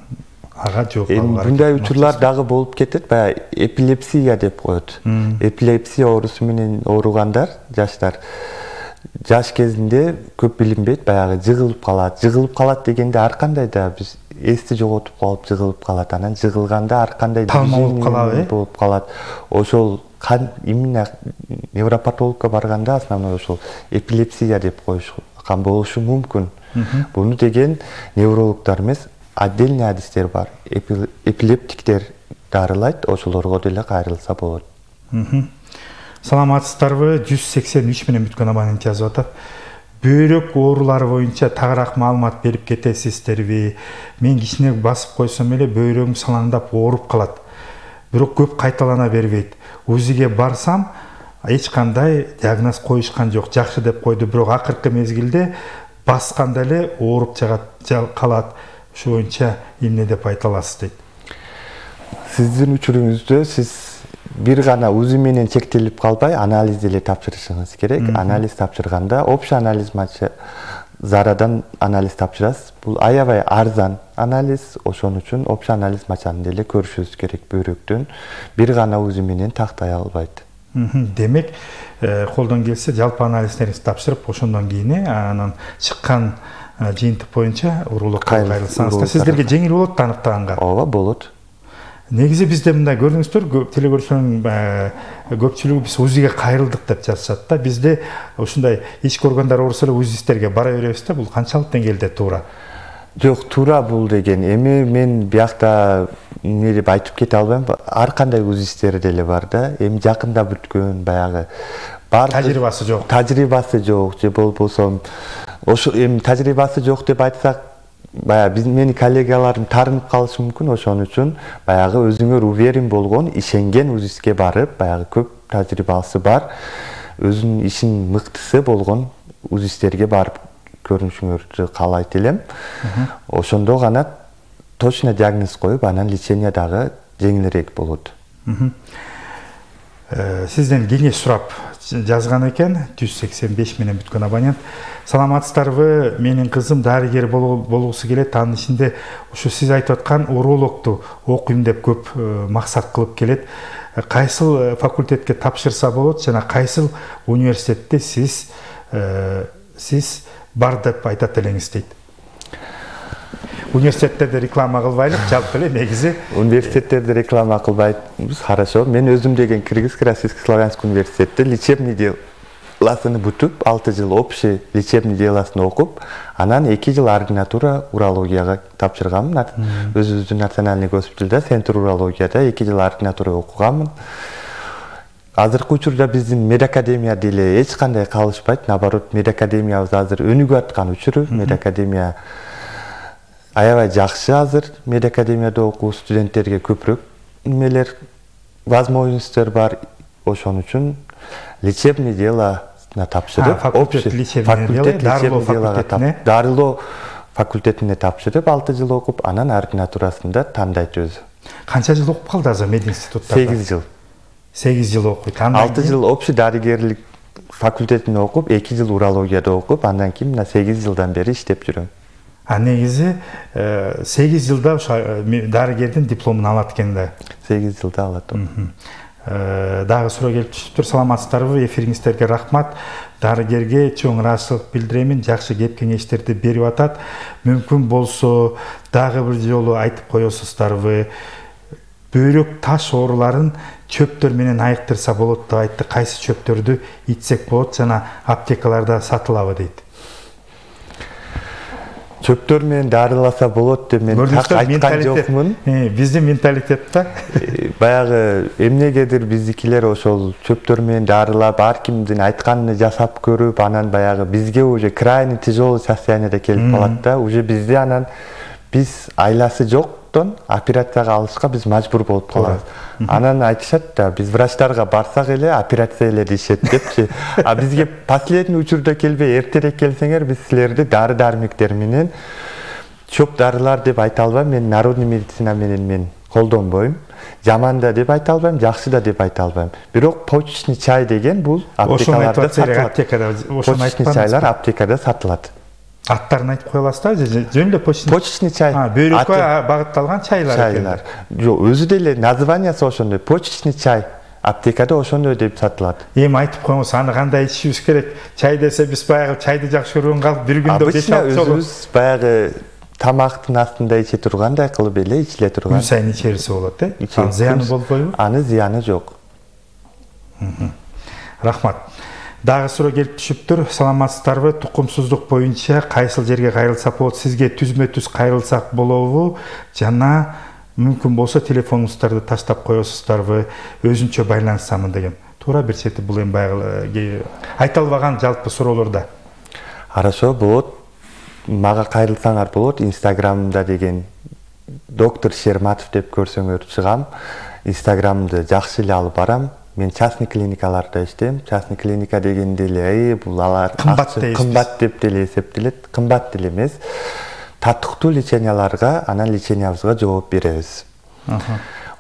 ага жооп алууга. Мындай учурлар дагы болуп кетет, баягы эпилепсия деп коет. Эпилепсия оорусу менен ооругандар, жаштар жаш кезинде көп билинбейт, баягы жыгылып калат. Жыгылып калат дегенде ар кандай да биз эсти жоготуп калып жыгылып калат. Анан жыгылганда ар кандай болуп калат. Ошол именно невропатологко барганда основной ошол эпилепсия деп коюшкан болушу мүмкүн. Буну деген неврологдор эмес, отдельный адистер бар. Эпилептиктер дарылайт, ошолорго деле кайрылса болот. Саламатсыздарбы? 183 менен бүткөн абонент жазып атат. Бөйрөк оорулары боюнча тагыраак маалымат берип кетесиздерби? Мен кичине басып койсом эле бөйрөгүм салаңдап ооруп калат. Бирок көп кайталана бербейт. УЗИге барсам, эч кандай диагноз коюшкан жок. Жакшы деп койду, бирок акыркы мезгилде басканда эле ооруп калат. Ошо боюнча эмне деп айта аласыз дейт. Сиздин учуруңузда сиз бир гана УЗИ менен чектелип калбай, анализ деле тапшырышыңыз керек. Анализ тапшырганда общий анализ Зарадан анализ тапшырасыз. Бул аябай арзан анализ, ошон үчүн общий анализ мачанын деле көрүшүңүз керек бөйрөктөн. Бир гана УЗИ менен тактай албайт. Демек, колдон келсе жалпы анализдеринизди тапшырып, ошондон кийин анан чыккан жыйынтык боюнча урологко кайрылсаңыз, сиздерге жеңил болот таныктаганга. Ооба, болот. Негизи бизде мындай көрдүңүздөр, телекөрүүчүлөрдүн көпчүлүгү биз УЗИге кайрылдык деп жазышат да. Бизде ушундай ички органдар оорусу эле УЗИсттерге бара беребиз да. Бул канчалык деңгээлде туура? Жок, туура бул деген. Эми мен биякта эмне деп айтып кете албайм. Ар кандай УЗИстер деле бар да. Эми жакында бүткөн баягы бар тажрыйбасы жок. Тажрыйбасы жок же болбосо ошо эми тажрыйбасы жок деп айтсак, баягы менин коллегаларым таарынып калышы мүмкүн. Ошон үчүн баягы өзүңөр уверен болгон, ишенген УЗИске барып, баягы көп тажрыйбасы бар, өзүнүн ишин мыктысы болгон УЗИстерге барып көрүнүшүңөрдү каалайт элем. Ошондо гана точно диагноз коюп, анан лечение дагы жеңилирээк болот. Сизден кеңеш сурап жазган экен 185 менен бүткөн абонент. Саламатсыздарбы? Менин кызым дарыгер болгусу келет. Анын ичинде ушу сиз айтып аткан урологду окуйм деп көп максат кылып келет. Кайсыл факультетке тапшырса болот жана кайсыл университетте сиз бар деп айтат элеңиз дейт. Университеттерде реклама кылбайлык, жалпы эле негизи университеттерде реклама кылбайбыз, хорошо. Мен өзүм деген Кыргызский Российско-Славянский университетте лечебный делосун бүтүп, 6 жыл общий лечебный делосун окуп, анан 2 жыл ординатура урологияга тапшырганмын. Өзүбүздүн национальный госпиталда, центр урологияда 2 жыл ординатура окуганмын. Азыркы учурда биздин медакадемия деле эч кандай калышпайт. Наоборот, медакадемиябыз азыр өнүгүп аткан учуру. Медакадемия аябай жакшы азыр. Медакадемияда окуу студенттерге көпүрөөк немелер, возможностьтер бар. Ошон үчүн лечебный делосуна тапшырып, факультет лечебный дело, дарылоо факультетине тапшырып, 6 жыл окуп, анан ординатурасында тандайт өзү. Канча жыл окуп калды азыр мединститутта? 8 жыл. 8 жыл окуйт. 6 жыл общий дарыгерлик факультетине окуп, 2 жыл урологияда окуп, андан кийин мына 8 жылдан бери иштеп жүрөм. Негизи 8 жылда дарыгердин дипломун алат экен да. 8 жылда алат. Дагы суроо келип түшүптүр. Саламатсыздарбы? Эфириңиздерге рахмат. Дарыгерге чоң ыраазычылык билдиремин. Жакшы кеп кеңештерди берип атат. Мүмкүн болсо дагы бир жолу айтып коесуздарбы? Бөйрөк таш ооруларын чөптөр менен айыктырса болот деп айтты. Кайсы чөптөрдү ичсек болот жана аптекаларда сатылабы дейт. Чөптөр менен дарыласа болот деп мен так айткан жокмун. Биздин менталитетте баягы эмнегедир биздикилер ошол чөптөр менен дарылап, ар кимдин айтканын жасап көрүп, анан баягы бизге уже крайне тяжелый состояниеде келип калат да. Уже бизде анан биз айласы жоктон операцияга алышка биз мажбур болуп калабыз. Анан айтышат да, биз врачтарга барсак эле операция эле дешет депчи. А бизге последний учурда келбей, эртерээк келсеңер, биз силерди дары-дармектер менен чөп дарылар деп айта албайм. Мен народный медицина менен мен колдонбойм. Жаман да деп айта албайм, жакшы да деп айта албайм. Бирок почечный чай деген бул аптекаларда сатылат. Почечный чайлар аптекада сатылат. Аттарын айтып кое аласыздар же жөн эле почечный чай? Бөйрөккө багытталган чайлар. Жок, өзү деле названиясы ошондой. Почечный чай аптекада ошондой деп сатылат. Эми айтып коюңуз, аны кандай ичишибиз керек? Чай десе биз баягы чайды жакшы көргөн калып бир күндө 5-6 жолу өзүбүз баягы тамактын астында иче тургандай кылып эле ичиле турган. Күн сайын ичерсе болот, Анын зыяны болбойбу? Анын зыяны жок. Рахмат. Дагы суроо келип түшүптүр. Саламатсыздарбы? Тукумсуздук боюнча кайсыл жерге кайрылсак болот? Сизге түзмө-түз кайрылсак болобу? Жана мүмкүн болсо телефонуңуздарды таштап коесуздарбы? Өзүнчө байланыссамын деген. Туура бир чети бул эми баягы айта албаган жалпы суроолорда. Хорошо, болот. Мага кайрылсаңар болот. Инстаграмда деген доктор Шерматов деп көрсөңөр чыгам. Инстаграмды жакшы эле алып барам. Мен частный клиникаларда иштейм. Частный клиника дегенде эле бул алар кымбат деп деле эсептелет. Кымбат деле эмес. Татыктуу леченияларга, анан лечениябызга жооп беребиз.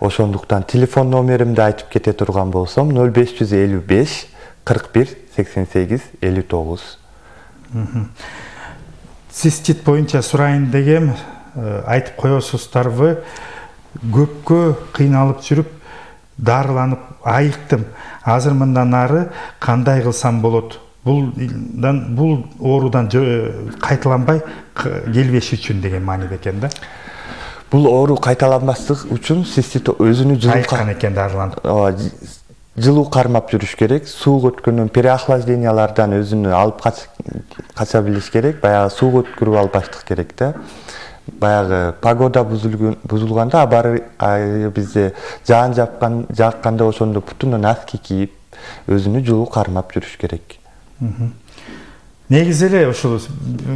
Ошондуктан телефон номеримди айтып кете турган болсом 0555 41 88 59. Цистит боюнча сурайын дегем, айтып коесуздарбы? Көпкө кыйналып жүрүп, дарыланып айыктым. Азыр мындан ары кандай кылсам болот? Бул оорудан кайталанбай келбеш үчүн деген мааниде экен да. Бул оору кайталанбаслык үчүн цистит өзүнү айыккан экен дарыланып. Жылуу кармап жүрүш керек. Сууга өткөндөн переохлаждениялардан өзүнү алып кача билиш керек. Баягы сууга өткөрүп албаштык керек да. баягы погода бузулганда абары бизде жаан жакканда ошондо бутунан аски кийип өзүнү жылуу кармап жүрүш керек. Негизи эле ушул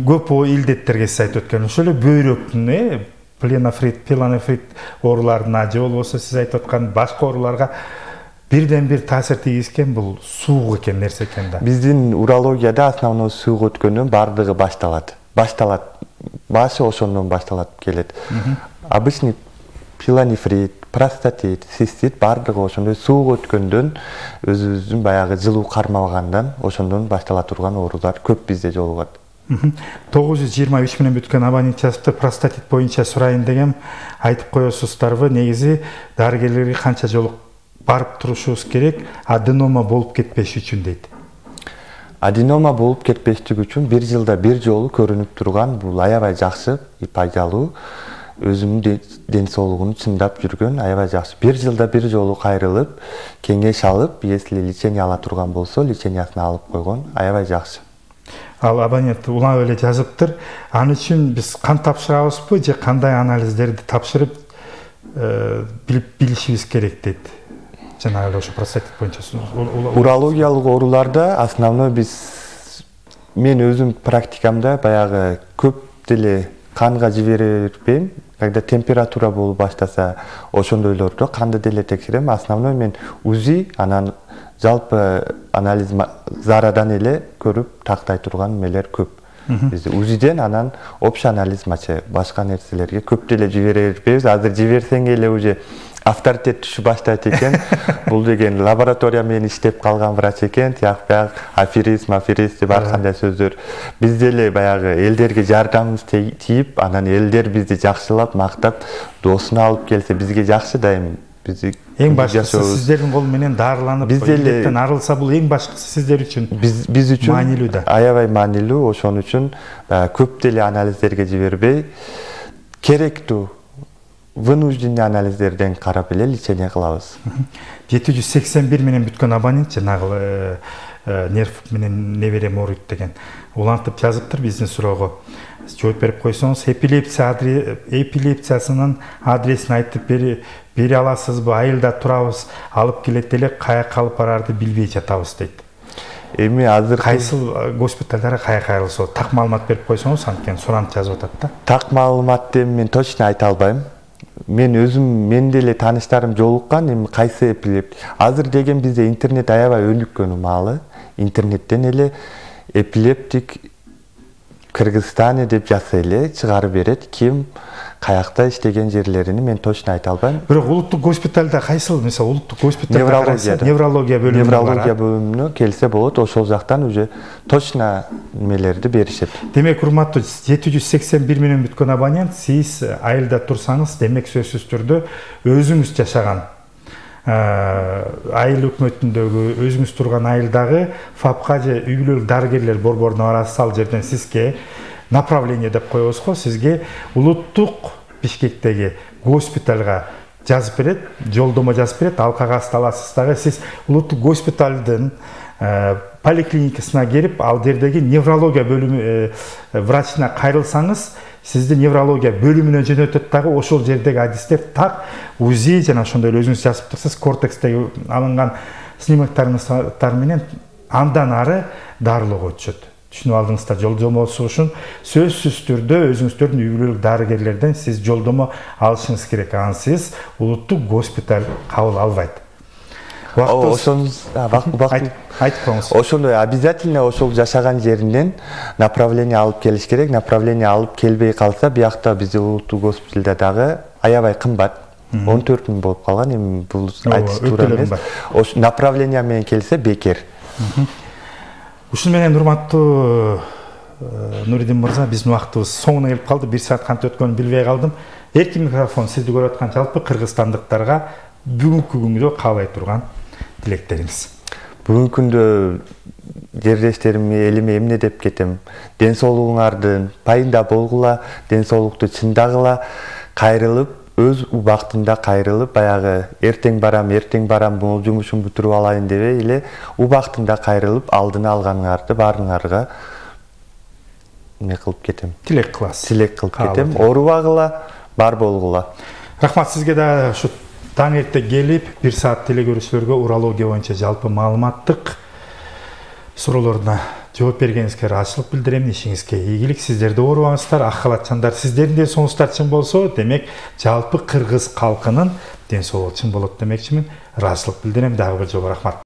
көп илдеттерге сиз айтып өткөн ошол эле бөйрөктүн пилонефрит ооруларына же болбосо сиз айтып аткан башка ооруларга бирден бир таасир тийгизген бул суук экен, нерсе экен да. Биздин урологияда основной суук өткөндөн бардыгы башталат. Башы ошондон башталат келет. Обычный пилонефрит, простатит, цистит бардыгы ошондой суук өткөндөн өзүбүздүн баягы жылуу кармабагандан ошондон баштала турган оорулар көп бизде жолугат. 923 менен бүткөн абонент жазыптыр, простатит боюнча сурайын дегем, айтып коесуздарбы? Негизи дарыгерлерге канча жолу барып турушубуз керек, аденома болуп кетпеш үчүн дейт. Аденома болуп кетпештик үчүн 1 жылда 1 жолу көрүнүп турган бул аябай жакшы, пайдалуу, өзүнүн ден соолугун чындап жүргөн аябай жакшы. 1 жылда 1 жолу кайрылып, кеңеш алып, если лечение ала турган болсо, лечениясын алып койгон аябай жакшы. Ал абонент улам эле жазыптыр. Аны үчүн биз кан тапшырабызбы же кандай анализдерди тапшырып билишибиз керек дейт. Жанагы ошо простатит боюнча урологиялык ооруларда основной мен өзүм практикамда баягы көп деле канга жибере бербейм. Когда температура болуп баштаса, ошондойлордо канды деле текшерем. Основной мен УЗИ, анан жалпы анализ зарадан эле көрүп тактай турган мелер көп. Бизде УЗИден анан общий анализ башка нерселерге көп деле жибере бербейбиз. Азыр жиберсең эле уже авторитет түшүп баштайт экен. Бул деген лаборатория менен иштеп калган врач экен, тияк аферист деп ар кандай сөздөр. Биз деле баягы элдерге жардамыбыз тийип, анан элдер бизди жакшылап, мактап, доосуна алып келсе бизге жакшы дайым. Эң башкысы сиздердин кол менен дарыланып, илдеттен арылса бул эң башкысы сиздер үчүн биз үчүн маанилүү да. Аябай маанилүү, ошон үчүн көп деле анализдерге жибербей, керектүү вынужденный анализдерден карап эле лечение кылабыз. 781 менен бүткөн абонент жанагы нерв менен неберем ооруйт деген. Улантып жазыптыр биздин суроого. Жооп берип койсоңуз, эпилепсиясынын адресин айтып бере аласызбы? Айылда турабыз, алып келет эле, каяка алып барарды билбей жатабыз дейт. Эми азыр кайсыл госпиталдарга каяка айрылса, так маалымат берип койсоңуз, анткени суранып жазып атат да. Так маалыматты мен точно айта албайм. Мен өзүм менде эле тааныштарым жолуккан, эми кайсы эпилеп. Азыр деген бизде интернет аябай өнүккөн маалы. Интернеттен эле эпилептик Кыргызстан деп жазса эле чыгарып берет. Ким каякта иштеген жерлерини мен точно айта албайм. Бирок улуттук госпиталда кайсыл, мисалы улуттук госпиталда неврология бөлүмүнө келсе болот, ошол жактан уже точно немелерди беришет. Демек, урматтуу 781 менен бүткөн абонент, сиз айылда турсаңыз, демек сөзсүз түрдө өзүңүз жашаган айыл өкмөтүндөгү, өзүңүз турган айылдагы ФАПка же үй бүлөлүк дарыгерлер борборуна барасыз. Ал жерден сизге направление деп коебуз го, сизге улуттук Бишкектеги госпиталга жазып берет, жолдомо жазып берет, ал кагазды аласыз дагы сиз улуттук госпиталдын поликлиникасына келип, ал жердеги неврология бөлүмү врачына кайрылсаңыз, сизди неврология бөлүмүнө жөнөтөт дагы. Ошол жердеги адистер так УЗИ жана ошондой эле өзүңүз жазып турсуз, кортекстеги алынган снимоктар менен андан ары дарылоого өтүшөт. Түшүнүп алдыңыздар, жолдомосу үчүн сөзсүз түрдө өзүңүздөрдүн үй бүлөлүк дарыгерлерден сиз жолдомо алышыңыз керек. Ансыз улуттук госпиталь кабыл албайт. Айтып коңуз. Ошондой обязательно ошол жашаган жеринен направление алып келиш керек. Направление алып келбей калса, биякта бизде улуттук госпиталда дагы аябай кымбат. 14 000 болуп калган. Эми бул айтыш туура эмес. Ош направление менен келсе бекер. Ушун менен урматтуу Нуридин мырза, биздин убактыбыз соңуна келип калды. 1 саат кантип өткөнүн билбей калдым. Эркин микрофон сизди көрүп аткан жалпы кыргызстандыктарга бүгүнкү күнгө каалай турган тилектериңиз. Бүгүнкү күндө жерлештериме, элиме эмне деп кетем? Ден соолугуңардын пайында болгула, ден соолукту чындагыла, кайрылып, өз убактында кайрылып, баягы эртең барам, бул жумушумду бүтүрүп алайын дебей эле убактында кайрылып, алдын алганыңарды баарыңарга эме кылып кетем. Тилек кыласыз. Тилек кылып кетем. Оорубагыла, бар болгула. Рахмат сизге да ушу таң эрте келип, 1 саат телекөрүүчүлөргө урология боюнча жалпы маалыматтык суроолоруна жооп бергениңизге ыраазычылык билдирем. Ишиңизге ийгилик. Сиздер да оорубаңыздар, ак халатчандар. Сиздердин ден соолугуңуздар чың болсо, демек жалпы кыргыз калкынын ден соолугу чың болот демекчимин. Ыраазычылык билдирем. Дагы бир жолу рахмат.